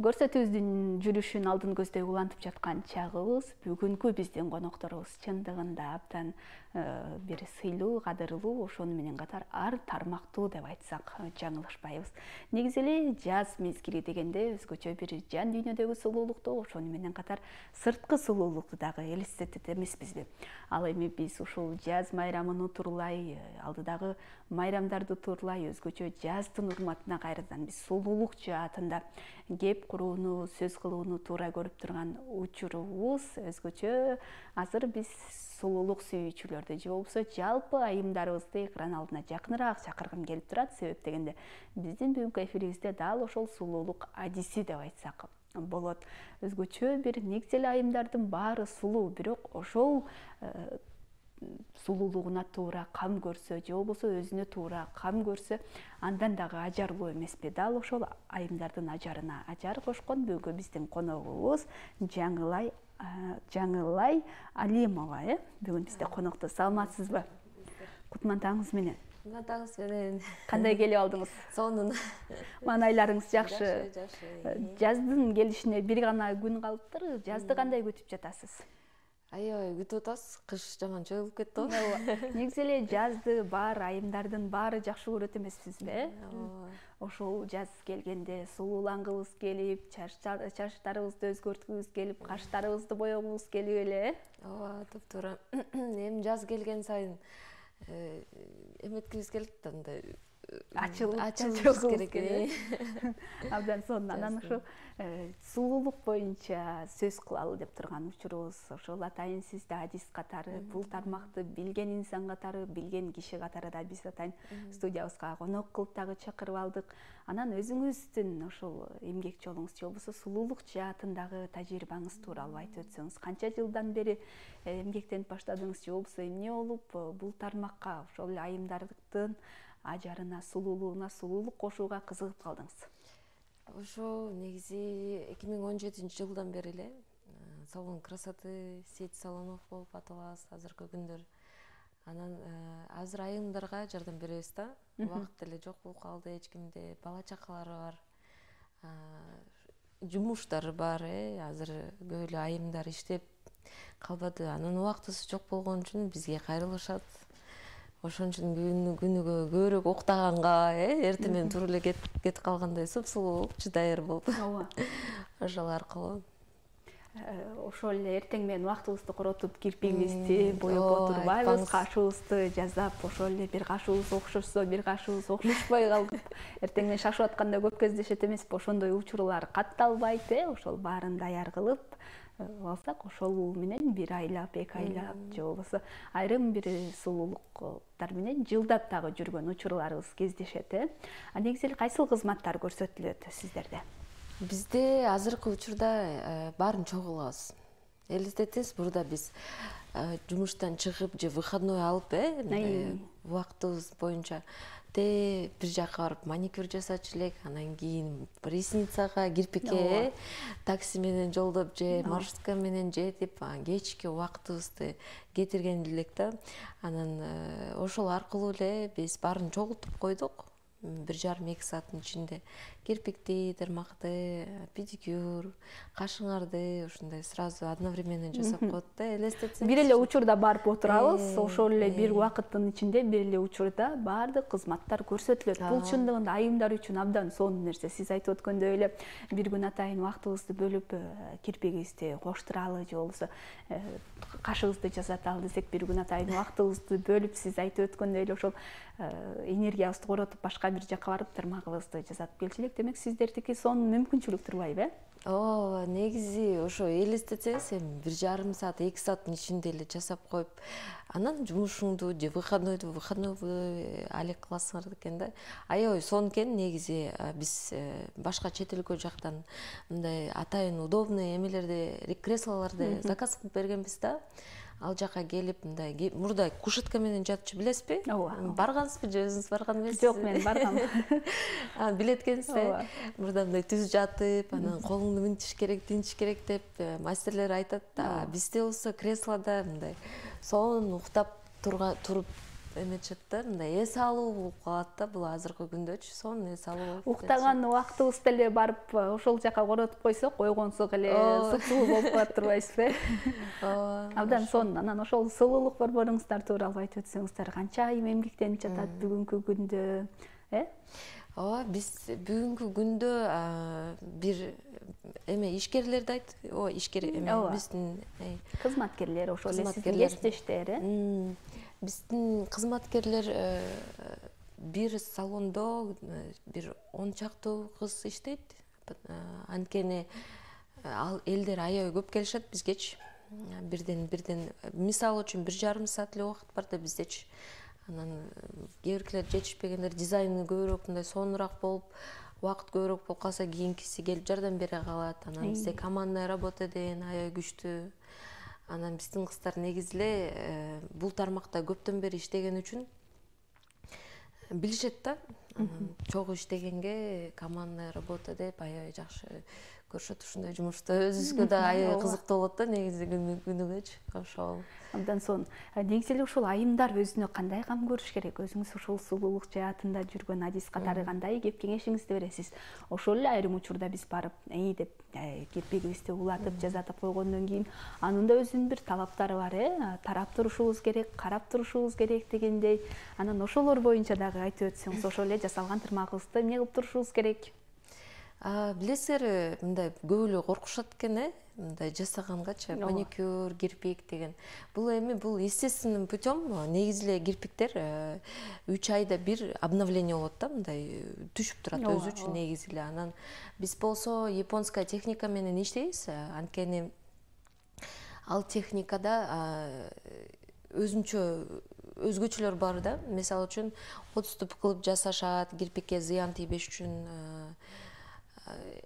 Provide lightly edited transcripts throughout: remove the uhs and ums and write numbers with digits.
Көрсөтүүбүздүн жүрүшүн алдын көздөй улантып жаткан чагыбыз бүгүнкү биздин конокторубуз чындыгында абдан бир сыйлуу, кадырлуу, ошону менен катар ар тармактуу деп айтсак жаңылышпайбыз. Негизи эле жаз мезгили дегенде өзгөчө бир жан дүйнөдөгү сулуулукту, ошону менен катар сырткы сулуулукту дагы элестетет эмеспизби? Ал эми биз ушул жаз майрамын утурлай, алдыдагы майрамдарды утурлай өзгөчө жаздын урматына кайрадан биз сулуулук жаатында кеп курууну, сөз кылууну туура көрүп турган учурубуз өзгөчө. Азыр биз сулуулук сүйүүчүлөрдү же болбосо жалпы айымдарыбызды экран алдына жакыныраак чакыргым келип турат. Себеп дегенде биздин бүгүнкү эфирибизде дал ошол сулуулук адиси деп айтсак болот. Өзгөчө бир негизи эле айымдардын баары сулуу, бирок ошол сулуулугуна туура кам көрсө же болбосо өзүнө туура кам көрсө андан дагы ажарлуу эмеспи? Дал ошол айымдардын ажарына ажар кошкон бүгүнкү биздин коногубуз Жаңылай Алимова. Бүгүн бизде конокто. Саламатсызбы? Кутман таңыңыз менен. Таңыңыз менен. Кандай келип алдыңыз? Сонун. Маанайларыңыз жакшы. Жакшы. Жаздын келишине бир гана күн калыптыр. Жазды кандай күтүп жатасыз? Аябай күтүп атабыз. Кыш жаман чыгып кетти. Негизи эле жазды баары айымдардын баары жакшы көрөт эмеспизби? Ошол жаз келгенде сулуулангыбыз келип, чачтарыбызды өзгөрткүбүз келип, каштарыбызды боёгубуз келип эле. Ооба, туп-туура. Эми жаз келген сайын эметкибиз келет да, мындай ачылышыбыз керек. Абдан сонун. Анан ошо сулуулук боюнча сөз кылалы деп турган учурубуз. Ошол атайын сизди адис катары, бул тармакты билген инсан катары, билген киши катары да биз атайын студиябызга конок кылып дагы чакырып алдык. Анан өзүңүздүн ошол эмгек жолуңуз же болбосо сулуулук жаатындагы тажрыйбаңыз тууралуу айтып өтсөңүз. Канча жылдан бери эмгектенип баштадыңыз же болбосо эмне болуп бул тармакка, ошол айымдардын ажарына, сулуулугуна сулуулук кошууга кызыгып калдыңыз? Ошо негизи 2017-жылдан бери эле салон красоты сеть салонов болуп аталабыз азыркы күндөр. Анан азыр айымдарга жардам беребиз да. Убакыт деле жок болуп калды, эч кимде, бала чакалары бар. Жумуштары бар, азыр көп эле айымдар иштеп калбады. Анан убактысы жок болгон үчүн бизге кайрылышат. Ошон үчүн күнүгө көбүрөөк уктаганга, эртең менен туруп эле кетип калгандай сулуулук даяр болуп. Ооба. Ошол аркылуу. Ошол эле эртең менен убактыбызды коротуп, кирпигибизди боеп отурбайбыз, кашыбызды жасап, ошол эле бир кашыбыз окшошсо, бир кашыбыз окшошпой калып, эртең менен шашып атканда көп кездешет эмеспи? Ошондой учурлар катталбайт, ошол баарын даяр кылып алсак, ошол менен бир айлап, эки айлап же болбосо айрым бир сулуулуктар менен жылдап дагы жүргөн учурларыбыз кездешет. Негизи эле кайсыл кызматтар көрсөтүлөт сиздерде? Бизде азыркы учурда баарын чогуу кылабыз. Элестетесиз, бурда биз жумуштан чыгып же выходной алып, убактыбыз боюнча бир жака барып маникюр жасачу элек, анан кийин ресницага, кирпикке такси менен жолдоп же маршрутка менен жетип, кечки убактыбызды кетирген элек да. Анан ошол аркылуу эле биз баарын чогултуп койдук. 1,5-2 сааттын ичинде кирпикти, тырмакты, педикюр, кашыңарды ушундай сразу одновременно жасап коет да, элестетсеңиз. Бир эле учурда барып отурабыз, ошол эле бир убакыттын ичинде бир эле учурда баардык кызматтар көрсөтүлөт. Бул чындыгында айымдар үчүн абдан сонун нерсе. Сиз айтып өткөндөй эле бир күн атайын убактыбызды бөлүп кирпигибизди коштуралы же болбосо кашыбызды жасаталы десек, бир күн атайын убактыбызды бөлүп, сиз айтып өткөндөй эле ошол энергиябызды коротуп башка бир жака барып тырмагыбызды жасатып келчү элек. Демек сиздердики сонун мүмкүнчүлүк турбайбы? Ооба, негизи ошо элестетсеңиз, эми 1,5 саат, 2 сааттын ичинде эле жасап коюп, анан жумушуңду же выходной алек кыласыңар экен да. Аябай сонун экен негизи. Биз башка чет өлкө жактан мындай атайын удобный эмелерди, креслолорду заказ кылып бергенбиз да. Ал жака келип, мындай мурда кушетка менен жатчу, билесизби? Ооба. Баргансызбы же өзүңүз барган эмессизби? Жок, мен баргам. Билет экенсиз. Мурда мындай түз жатып, анан колуңду мынтиш керек, тинтиш керек деп мастерлер айтат. Бизде болсо креслода мындай сонун уктап туруп эметишет да, мындай эс алуу болуп калат да, бул азыркы күндөчү сонун эс алуу болуп. Уктаган убактыбыз деле барып ошол жака коротуп койсок, ойгонсок эле сулуу болуп калат турбайсызбы? Абдан сонун. Анан ошол сулуулук борборуңуздар тууралуу айтып өтсөңүздөр, канча айым эмгектенип жатат бүгүнкү күндө, Ооба, биз бүгүнкү күндө бир ишкерлерди ишкер биздин кызматкерлер, ошол эле сиздин кесиптештер, биздин кызматкерлер бир салондо бир 10 чактуу кыз иштейт. Анткени ал элдер аябай көп келишет бизгечи. Бирден мисалы үчүн 1,5 саат эле убакыт бар да биздечи. Анан кээ биркилер жетишпегендер, дизайны көбүрөөк мындай сонураак болуп, убакыт көбүрөөк болуп калса кийинкиси келип жардам бере калат. Анан бизде командная работа деген аябай күчтүү. Анан биздин кыздар негизи эле бул тармакта көптөн бери иштеген үчүн билишет да. Чогуу иштегенге командная работа деп аябай жакшы көрүшөт. Ушундай жумушта өзүбүзгө да аябай кызыктуу болот да, негизи күнүгөчү. Ошол абдан сонун. Негизи эле ушул айымдар өзүнө кандай кам көрүш керек? Өзүңүз ушул сулуулук жаатында жүргөн адис катары кандай кеп кеңешиңизди бересиз? Ошол эле айрым учурда биз барып деп кирпигибизди улатып жазатып койгондон кийин анын да өзүнүн бир талаптары бар, тарап турушубуз керек, карап турушубуз керек дегендей. Анан ошолор боюнча дагы айтып өтсөңүз, ошол эле жасалган тырмагыбызды эмне кылып турушубуз керек? Билесиңер, мындай көп эле коркушат экен, мындай жасаганганчы, маникюр, кирпик деген. Бул естественным путем. Негизи эле кирпиктер 3 айда бир обновление болот да, мындай түшүп турат өзү үчүн негизи эле. Анан биз болсо японская техника менен иштейбиз, анткени ал техникада өзгөчөлөр бар да. Мисалы үчүн отступ кылып жасашат, кирпикке зыян тийбеш үчүн.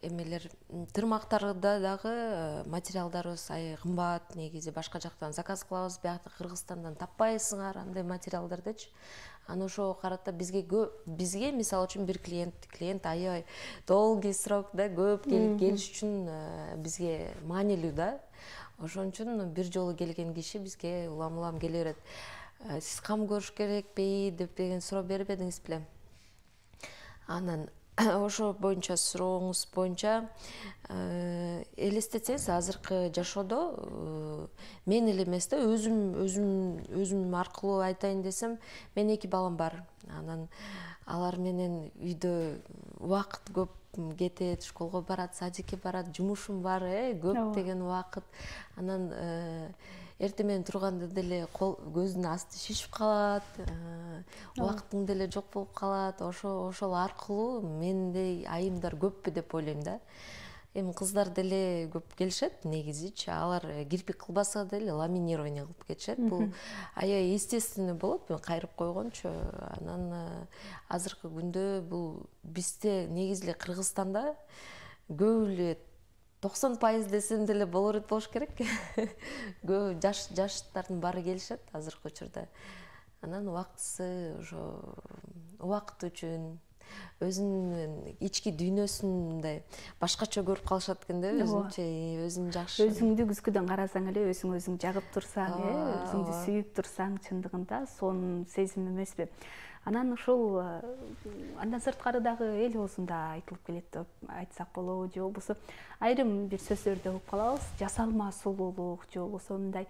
Эмелер тырмактарда дагы материалдарыбыз аябай кымбат, негизи башка жактан заказ кылабыз, биякта Кыргызстандан таппайсыңар андай материалдардычы. Аны ошого карата бизге мисалы үчүн бир клиент аябай долгий срок да, көп келиш үчүн бизге маанилүү да. Ошон үчүн бир жолу келген киши бизге улам келе берет. Сиз кам көрүш керекпи деген суроо бербедиңиз беле? Анан ошо боюнча сурооңуз боюнча элестетсеңиз, азыркы жашоодо мен эле эмес да, өзүм аркылуу айтайын десем, менин 2 балам бар. Анан алар менен үйдө убакыт көп кетет, школго барат, садикке барат, жумушум бар, көп деген убакыт. Анан эртең менен турганда деле көздүн асты шишип калат, убактың деле жок болуп калат. Ошол аркылуу мендей айымдар көппү деп ойлойм да. Эми кыздар деле көп келишет негизичи. Алар кирпик кылбаса деле ламинирование кылып кетишет. Бул аябай естественный болот, мен кайрып койгончу. Анан азыркы күндө бул бизде негизи эле Кыргызстанда көп эле 90% десем деле болуш керек. Көп жаштардын баары келишет азыркы учурда. Анан убактысы ошо убакыт үчүн өзүнүн ички дүйнөсүн мындай башкача көрүп калышат экен да, өзүн жакшы. Өзүңдү күзгүдөн карасаң эле өзүң жагып турсаң, өзүңдү сүйүп турсаң, чындыгында сонун сезим эмеспи? Анан ушул андан сырткары дагы эл оозунда айтылып келет деп айтсак болобу, же болбосо айрым бир сөздөрдү угуп калабыз, жасалма сулуулук, же болбосо мындай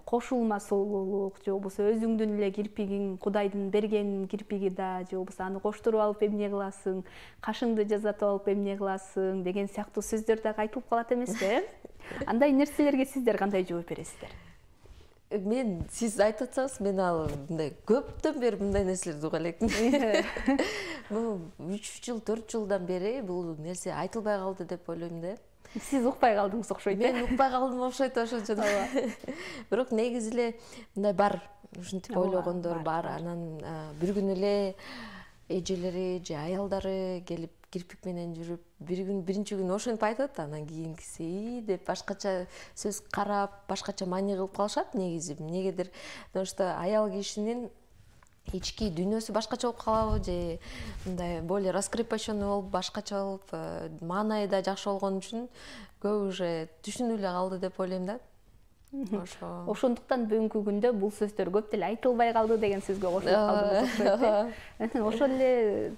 кошулма сулуулук, же болбосо өзүңдүн эле кирпигиң, Кудайдын берген кирпиги да, же болбосо аны коштуруп алып эмне кыласың, кашыңды жасатып алып эмне кыласың деген сыяктуу сөздөр дагы айтылып калат эмеспи? Андай нерселерге сиздер кандай жооп бересиздер? Мен сиз айтып атсаңыз, мен ал мындай көптөн бери мындай нерселерди уга элекмин. Бул 3 жыл, 4 жылдан бери бул нерсе айтылбай калды деп ойлойм да. Сиз укпай калдыңыз окшойт. Мен укпай калдым окшойт ошончо. Бирок негизи эле мындай бар, ушинтип ойлогондор бар. Анан бир күн эле эжелери же аялдары келип кирпик менен жүрүп, биринчи күн ошентип айтат, анан кийинкиси деп башкача сөз карап, башкача маани кылып калышат негизи. Эмнегедир, потому что аял кишинин ички дүйнөсү башкача болуп калабы, же мындай более раскрепощенный болуп, башкача болуп, маанайы да жакшы болгон үчүн көп уже түшүнүп эле калды деп ойлойм да. Ошондуктан бүгүнкү күндө бул сөздөр көп деле айтылбай калды деген сөзгө кошулуп калды. Ошол эле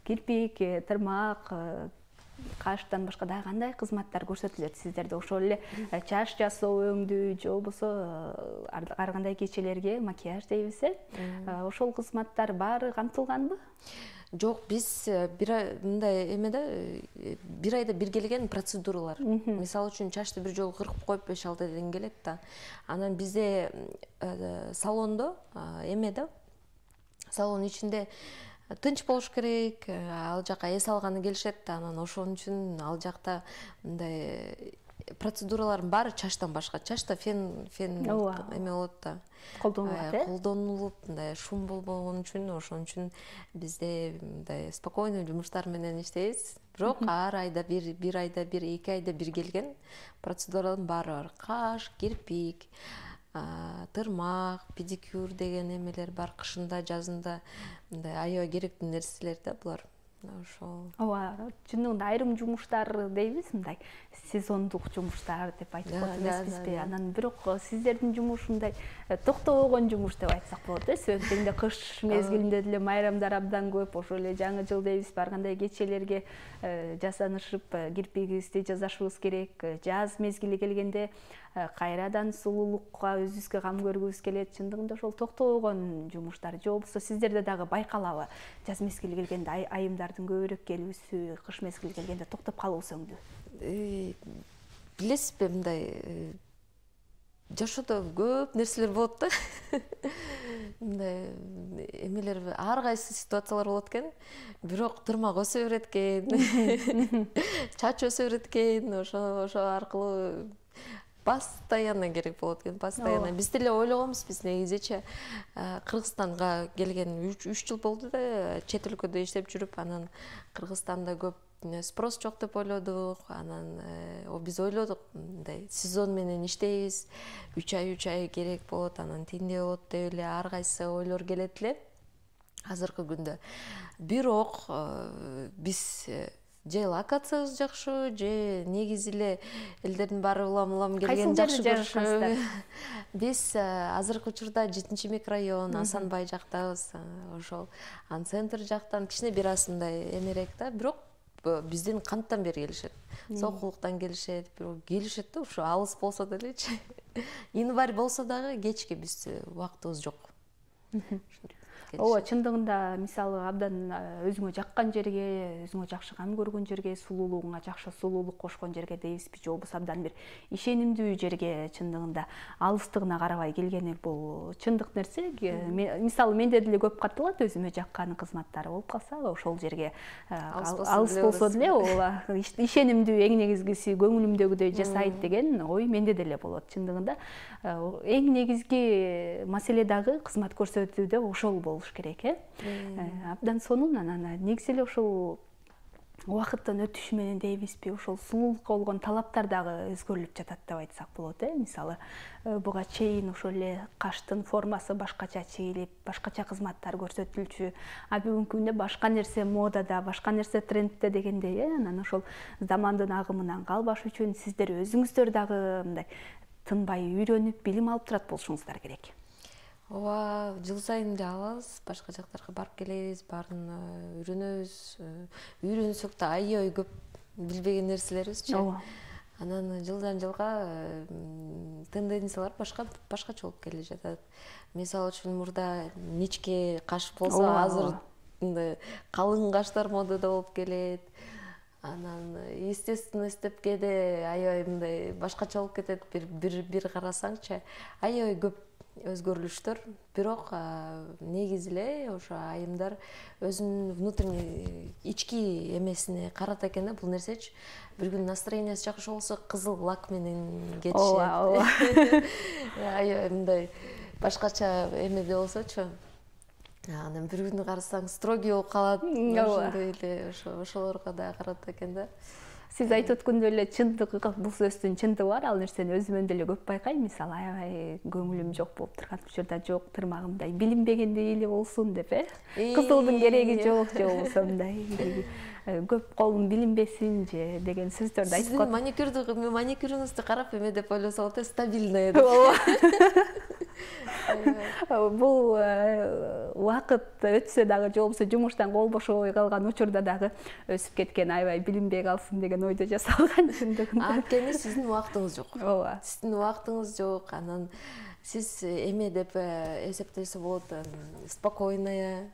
кирпик, тырмак, каштан башка дагы кандай кызматтар көрсөтүлөт сиздерде? Ошол эле чач жасоо, өңдүү же болбосо ар кандай кечелерге макияж дейбиз, ошол кызматтар баары камтылганбы? Жок, биз мындай эмеде бир айда бир келген процедуралар. Мисалы үчүн чачты бир жолу кыркып коюп 5-6 айдан келет да. Анан бизде салондо эмеде салон ичинде тынч болуш керек, ал жака эс алганы келишет да, анан ошон үчүн ал жакта мындай процедуралардын баары чачтан башка. Чачта фен эме болот да. Колдонулуп, мындай шум болбогон үчүн, ошон үчүн бизде мындай спокойный жумуштар менен иштейбиз. Бирок ар айда бир айда бир, 2 айда бир келген процедуралардын баары бар. Каш, кирпик, тырмак, педикюр деген эмелер бар. Кышында, жазында мындай аябай керектүү нерселер да булар. Ошол. Ооба, чындыгында айрым жумуштар дейбиз, мындай сезондук жумуштар деп айтып коет эмеспизби? Анан бирок сиздердин жумуш мындай токтобогон жумуш деп айтсак болот, себеп дегенде кыш мезгилинде деле майрамдар абдан көп, ошол эле жаңы жыл дейбиз, ар кандай кечелерге жасанышып кирпигибизди жасашыбыз керек. Жаз мезгили келгенде кайрадан сулуулукка өзүбүзгө кам көргүбүз келет. Чындыгында ошол токтобогон жумуштар же болбосо сиздерде дагы байкалабы? Жаз мезгили келгенде айымдардын көбүрөөк келүүсү, кыш мезгили келгенде токтоп калуусу өңдүү. Билесизби, мындай жашоодо көп нерселер болот да. Мындай эмелер ар кайсы ситуациялар болот экен. Бирок тырмак өсө берет экен, чач өсө берет экен, ошо аркылуу постоянно керек болот экен, постоянно. Биз деле ойлогонбуз, биз негизичи Кыргызстанга келген 3 жыл болду да, чет өлкөдө иштеп жүрүп, анан Кыргызстанда көп спрос жок деп ойлодук. Анан биз ойлодук, мындай сезон менен иштейбиз, 3 ай керек болот, анан тиндей болот деп эле ар кайсы ойлор келет эле азыркы күндө. Бирок биз же локациябыз жакшы, же негизи эле элдердин баары улам келген жакшы көрүшүп. Биз азыркы учурда 7-микрорайон Асанбай жактабыз. Ошол центр жактан кичине бир аз мындай эмерээк да, бирок биздин канттан бери келишет. Сокулуктан келишет, бирок келишет да, ушу алыс болсо делечи. Январь болсо дагы кечке биз убактыбыз жок. Ооба, чындыгында мисалы абдан өзүңө жаккан жерге, өзүңө жакшы кам көргөн жерге, сулуулугуңа жакшы сулуулук кошкон жерге дейбизби, же болбосо абдан бир ишенимдүү жерге чындыгында алыстыгына карабай келгени бул чындык нерсе. Мисалы менде деле көп катталат, өзүмө жаккан кызматтар болуп калса, ошол жерге алыс болсо деле ооба ишенимдүү, эң негизгиси көңүлүмдөгүдөй жасайт деген ой менде деле болот. Чындыгында эң негизги маселе дагы кызмат көрсөтүүдө ошол болуш керек, абдан сонун. Анан негизи эле ошол убакыттын өтүшү менен дейбизби, ошол сулуулукка болгон талаптар дагы өзгөрүлүп жатат деп айтсак болот. Мисалы буга чейин ошол эле каштын формасы башкача чийилип, башкача кызматтар көрсөтүлчү, а бүгүнкү күндө башка нерсе модада, башка нерсе трендте дегендей, анан ошол замандын агымынан калбаш үчүн сиздер өзүңүздөр дагы мындай тынбай үйрөнүп, билим алып турат болушуңуздар керек. Ооба, жыл сайын эле алабыз, башка жактарга барып келебиз, баарын үйрөнөбүз. Үйрөнсөк да аябай көп билбеген нерселерибизчи. Анан жылдан жылга тенденциялар башкача болуп келе жатат. Мисалы үчүн мурда ничке каш болсо, азыр калың каштар модада болуп келет. Анан естественность деп кээде аябай мындай башкача болуп кетет. Бир карасаңчы, аябай көп өзгөрүлүштөр. Бирок негизи эле ошо айымдар өзүнүн внутренний ички эмесине карата экен да бул нерсечи. Бир күн настроениясы жакшы болсо кызыл лак менен кетишет. Ооба. Аябай мындай башкача эмеде болсочу. Анан бир күнү карасаң строгий болуп калат. Ошондой эле ошолорго да карата экен да. Сиз айтып өткөндөй эле чындыгы, бул сөздүн чындыгы бар. Ал нерсени өзүмөн деле көп байкайм. Мисалы, аябай көңүлүм жок болуп турган учурда, жок тырмагымдай билинбегендей эле болсун деп, кызылдын кереги жок, же болбосо мындай көп колум билинбесин же деген сөздөрдү айтып коет. Маникюрүңүздү карап эме деп ойлосо болот, стабильная деп. Бул убакыт өтсө дагы, же болбосо жумуштан кол бошобой калган учурда дагы өсүп кеткен, аябай билинбей калсын деген ойдо жасалган чындыгында. Анткени сиздин убактыңыз жок. Ооба. Сиздин убактыңыз жок, анан сиз эме деп эсептесе болот, спокойная,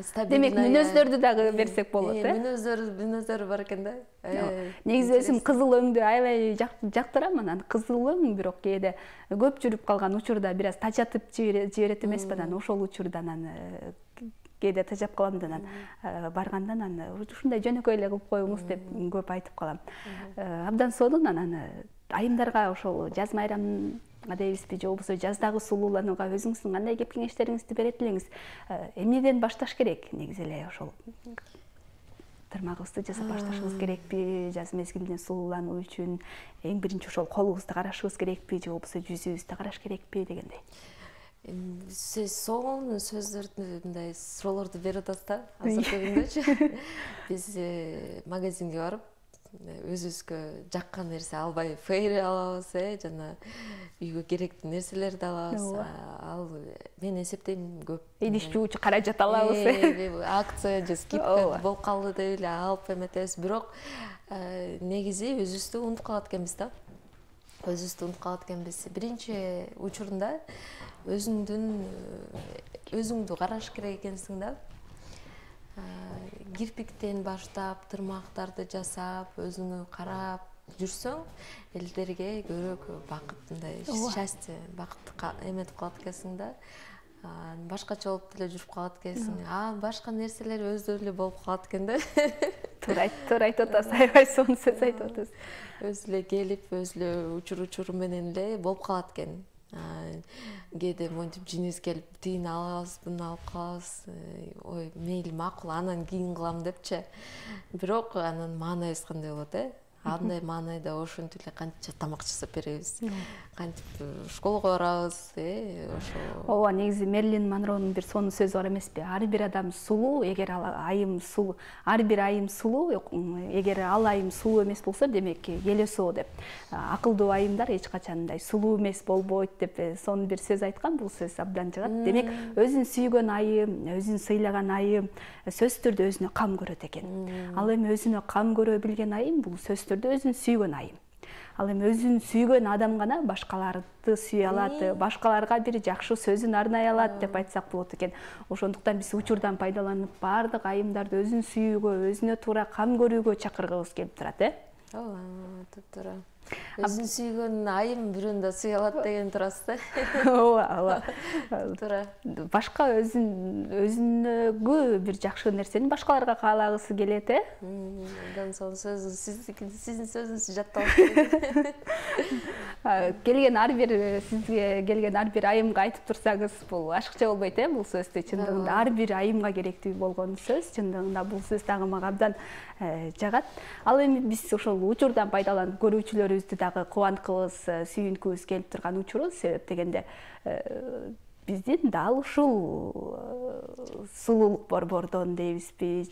стабильная. Демек, мүнөздөрдү дагы берсек болот, Мүнөздөрү бар экен да. Негизи өзүм кызыл өңдү аябай жактырам, анан кызыл өң бирок кээде көп жүрүп калган учурда бир аз тажатып жиберет эмеспи, анан ошол учурда анан кээде тажап калам да, анан барганда анан ушундай жөнөкөй эле кылып коюңуз деп көп айтып калам. Абдан сонун. Анан айымдарга ошол жаз майрамга дейбизби, же болбосо жаздагы сулууланууга өзүңүздүн кандай кеп кеңештериңизди берет элеңиз? Эмнеден башташ керек? Негизи эле ошол тырмагыбызды жасап башташыбыз керекпи? Жаз мезгилинде сулуулануу үчүн эң биринчи ошол колубузду карашыбыз керекпи, же болбосо жүзүбүздү караш керекпи дегендей. Сиз сонун сөздөрдү, мындай суроолорду берип атасыз да, азыркы күндөчү. Биз магазинге барып, өзүбүзгө жаккан нерсе албай фейри алабыз, жана үйгө керектүү нерселерди алабыз. Ал мен эсептейм көп. Идиш жуучу каражат алабыз. Акция же скидка болуп калды деп эле алып эметебиз. Бирок негизи өзүбүздү унутуп калат экенбиз. Биринчи учурунда өзүңдү караш керек экенсиң да. Кирпиктен баштап, тырмактарды жасап, өзүңө карап жүрсөң, элдерге көрөк бакыт, мындай счастье, бакытты эметип калат экенсиң да. Башкача болуп деле жүрүп калат экенсиң. Башка нерселер өздөрү эле болуп калат экен да. Туура айтып атасыз, аябай сонун сөз айтып атасыз. Өзү эле келип, өзү эле учуру менен эле болуп калат экен. Кээде монтип жинибиз келип, тигини алабыз, буну алып калабыз. Ой, мейли, макул, анан кийин кылам депчи. Бирок анан маанайыбыз кандай болот, Андай маанайда ошентип эле канча тамак жасап беребиз. Кантип школго барабыз, ошо. Ооба, негизи Мерлин Монронун бир сонун сөзү бар эмеспи? Ар бир адам сулуу, эгер айым сулуу, ар бир айым сулуу, эгер ал айым сулуу эмес болсо, демек элесоо деп. Акылдуу айымдар эч качан мындай сулуу эмес болбойт деп сонун бир сөз айткан. Бул сөз абдан жагат. Демек, өзүн сүйгөн айым, өзүн сыйлаган айым сөзсүз түрдө өзүнө кам көрөт экен. Ал эми өзүнө кам көрө билген айым бул сөзсүз түрдө өзүн сүйгөн айым. Ал эми өзүн сүйгөн адам гана башкаларды сүйө алат, башкаларга бир жакшы сөзүн арнай алат деп айтсак болот экен. Ошондуктан биз учурдан пайдаланып баардык айымдарды өзүн сүйүүгө, өзүнө туура кам көрүүгө чакыргыбыз келип турат, Ооба, туура. Өзүн сүйгөн айым бирөөнү да сүйө алат деген турасыз да. Ооба. Туура. Башка өзүнөгү бир жакшы нерсени башкаларга каалагысы келет, Андан соң сиздин сөзүңүздү жаттап сизге келген ар бир айымга айтып турсаңыз, бул ашыкча болбойт, бул сөздү чындыгында ар бир айымга керектүү болгон сөз. Чындыгында бул сөз дагы мага абдан жагат. Ал эми биз ошол учурдан пайдаланып көрүүчүлөрүбүздү дагы кубанткыбыз, сүйүнкүбүз келип турган учурубуз. Себеп дегенде биздин дал ушул сулуулук борбордон дейбизби,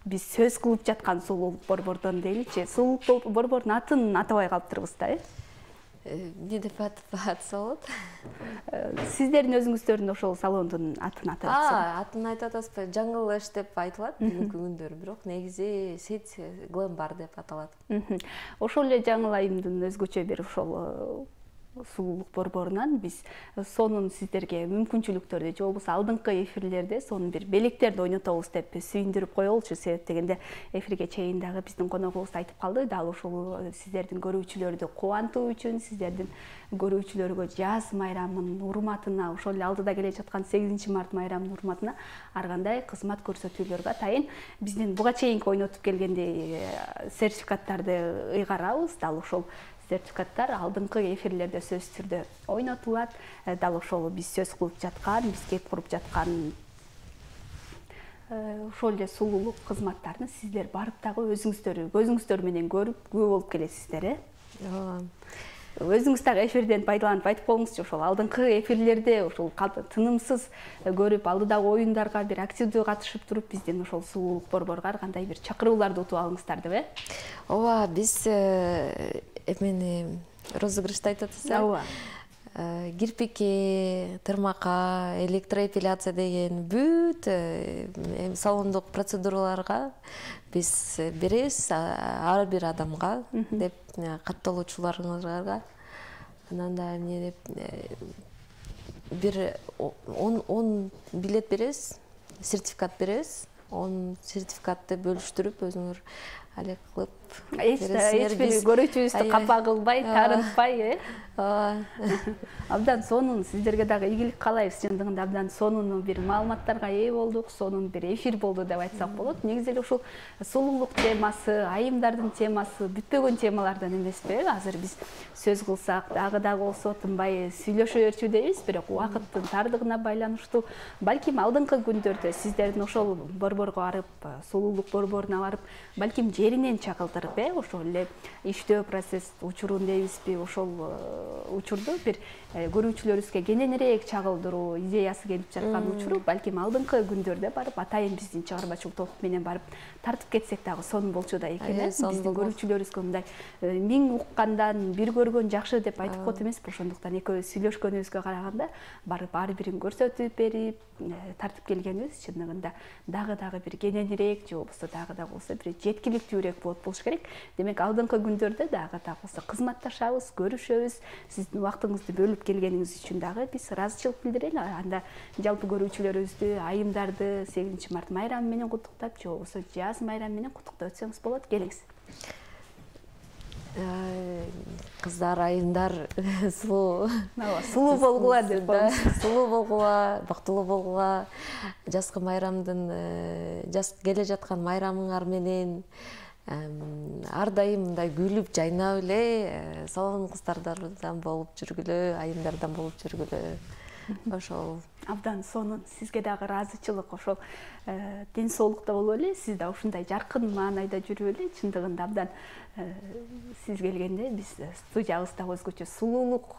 биз сөз кылып жаткан сулуулук борбордон дейличи. Сулуулук борбордун атын атабай калыптырбыз да, эмне деп атса болот? Сиздердин өзүңүздөрдүн ошол салондун атын атап атсам. Атын айтып атасызбы? Jungle Lash деп айтылат бүгүнкү күндөрү, бирок негизи Sit Glam Bar деп аталат. Ошол эле жаңыл айымдын өзгөчө бир ошол сулуулук борборунан биз сонун сиздерге мүмкүнчүлүктөрдү, же болбосо алдыңкы эфирлерде сонун бир белектерди ойнотобуз деп сүйүндүрүп коелучу. Себеп дегенде эфирге чейин дагы биздин коногубуз айтып калды, дал ушул сиздердин көрүүчүлөрдү кубантуу үчүн, сиздердин көрүүчүлөргө жаз майрамынын урматына, ошол эле алдыда келе жаткан 8-март майрамынын урматына ар кандай кызмат көрсөтүүлөргө атайын биздин буга чейинки ойнотуп келгендей сертификаттарды ыйгарабыз. Дал ошол сертификаттар алдыңкы эфирлерде сөзсүз түрдө ойнотулат. Дал ошол биз сөз кылып жаткан, биз кеп куруп жаткан ошол эле сулуулук кызматтарын сиздер барып дагы өзүңүздөр көзүңүздөр менен көрүп күбө болуп келесиздер, ооба. Өзүңүз дагы эфирден пайдаланып айтып коюңузчу, ошол алдыңкы эфирлерде ошол тынымсыз көрүп, алдыдагы оюндарга бир активдүү катышып туруп, биздин ошол сулуулук борборго ар кандай бир чакырууларды утуп алыңыздар деп, Ооба, биз эмени розыгрышты айтып атасыз. Ооба. Кирпикке, тырмакка, электроэпиляция деген бүт салондук процедураларга биз беребиз ар бир адамга деп катталуучуларга. Анан да эмне деп бир 10 билет беребиз, сертификат беребиз. 10 сертификатты бөлүштүрүп өзүңөр алек кылып Эч бир көрүүчүбүздү капа кылбай, таарынтпай, Абдан сонун сиздерге дагы ийгилик каалайбыз. Чындыгында абдан сонун бир маалыматтарга ээ болдук, сонун бир эфир болду деп айтсак болот. Негизи эле ушул сулуулук темасы, айымдардын темасы бүтпөгөн темалардан эмеспи? Азыр биз сөз кылсак дагы болсо тынбай сүйлөшө берчү дейбиз, бирок убакыттын тардыгына байланыштуу. Балким алдыңкы күндөрдө сиздердин ошол борборго барып, сулуулук борборуна барып, балким жеринен чагылдырып, ошол эле иштөө процесс учурун дейбизби, ошол учурду бир көрүүчүлөрүбүзгө кененирээк чагылдыруу идеясы келип жаткан учуру, балким алдыңкы күндөрдө барып атайын биздин чыгармачылык топ менен барып тартып кетсек дагы сонун болчу да экен. Биздин көрүүчүлөрүбүзгө мындай 1000 уккандан бир көргөн жакшы деп айтып коет эмеспи? Ошондуктан экөөбүз сүйлөшкөнүбүзгө караганда барып ар бирин көрсөтүп берип тартып келгенибиз чындыгында дагы бир кененирээк же болбосо дагы болсо бир жеткиликтүүрөөк болуш керек. Демек алдыңкы күндөрдө дагы болсо кызматташабыз, көрүшөбүз. Сиздин убактыңызды бөлүп келгениңиз үчүн дагы биз ыраазычылык билдирели. Анда жалпы көрүүчүлөрүбүздү, айымдарды 8-март майрамы менен куттуктап, же болбосо жаз майрамы менен куттуктап өтсөңүз болот. Келиңиз. Кыздар, айымдар сулуу болгула деп коебуз. Сулуу болгула, бактылуу болгула. Жазкы майрамдын жаз келе жаткан майрамыңар менен ар дайым мындай күлүп, жайнап эле салон кыздардан болуп жүргүлө, айымдардан болуп жүргүлө. Ошол абдан сонун. Сизге дагы ыраазычылык, ошол ден соолукта болуп эле, сиз да ушундай жаркын маанайда жүрүп эле. Чындыгында абдан сиз келгенде биз студиябызда өзгөчө сулуулук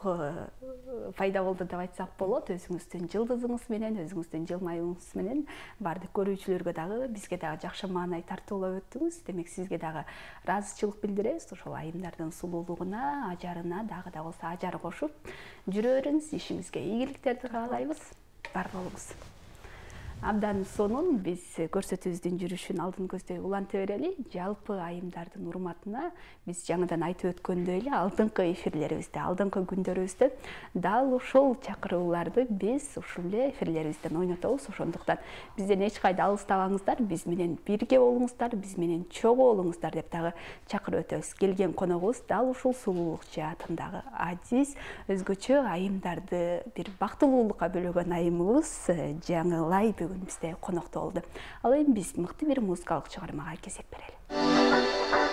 пайда болду деп айтсак болот. Өзүңүздүн жылдызыңыз менен, өзүңүздүн жылмаюуңуз менен баардык көрүүчүлөргө дагы, бизге дагы жакшы маанай тартуулап өттүңүз. Демек сизге дагы ыраазычылык билдиребиз. Ошол айымдардын сулуулугуна, ажарына дагы болсо ажар кошуп жүрө бериңиз. Ишиңизге ийгиликтерди каалайбыз. Бар болуңуз. Абдан сонун. Биз көрсөтүүбүздүн жүрүшүн алдын көздөй уланта берели. Жалпы айымдардын урматына биз жаңыдан айтып өткөндөй эле алдыңкы эфирлерибизде, алдыңкы күндөрүбүздө дал ушул чакырууларды биз ушул эле эфирлерибизден ойнотобуз. Ошондуктан бизден эч кайда алыстабаңыздар, биз менен бирге болуңуздар, биз менен чогуу болуңуздар деп дагы чакырып өтөбүз. Келген коногубуз дал ушул сулуулук жаатындагы азиз, өзгөчө айымдарды бир бактылуулукка бөлөгөн айымыбыз Жаңылай бүгүн бизде конокто болду. Ал эми биз мыкты бир музыкалык чыгармага кезек берели.